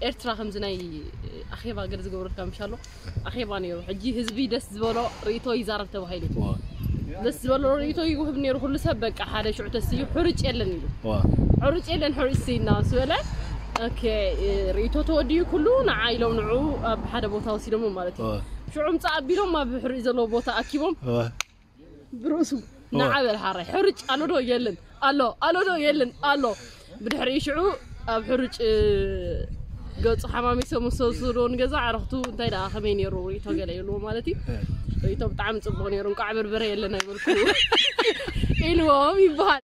ኤርትራ ከምዚ ናይ ኣኼባ ገለ ዝገብረልካ ምሽ ኣሎ ኣኼባ ነይሩ። ሕጂ ህዝቢ ደስ ዝበሎ ርእይቶ ይዛረብ ተባሂሉ። ደስ ዝበሎ ርእይቶ ይውህብ ነይሩ። ኩሉ ሰብ በቃ ሓደ ሽዑ ተስዩ ሕርጭ የለን ኢሉ። ሕርጭ የለን ሕርጭ ስይና ምስ በለ ኦኬ፣ ርእይቶ ተወዲኡ ኩሉ ንዓ ኢሎም ንዑ ኣብ ሓደ ቦታ ወሲዶሞ ማለት እዩ። ሽዑ ምጻእ ኣቢሎም ኣብ ሕርጭ ዘለዎ ቦታ ኣኪቦም ብርእሱ ንዓ በል ሓራይ ሕርጭ ኣሎ ዶ የለን ኣሎ ኣሎ ዶ የለን ኣሎ። ብድሕሪኡ ሽዑ ኣብ ሕርጭ ገጹ ሓማሚሶም ምስ ወሰድዎ ንገዛ ኣዕርኽቱ እንታይ ደኣ ከመይ ነይሩ ርእይቶ ገለ ይብልዎ ማለት እዩ። ርእይቶ ብጣዕሚ ጽቡቕ ነይሩ፣ እንቋዕ በርበረ የለን ኣይበልኩ ኢልዎም ይበሃል።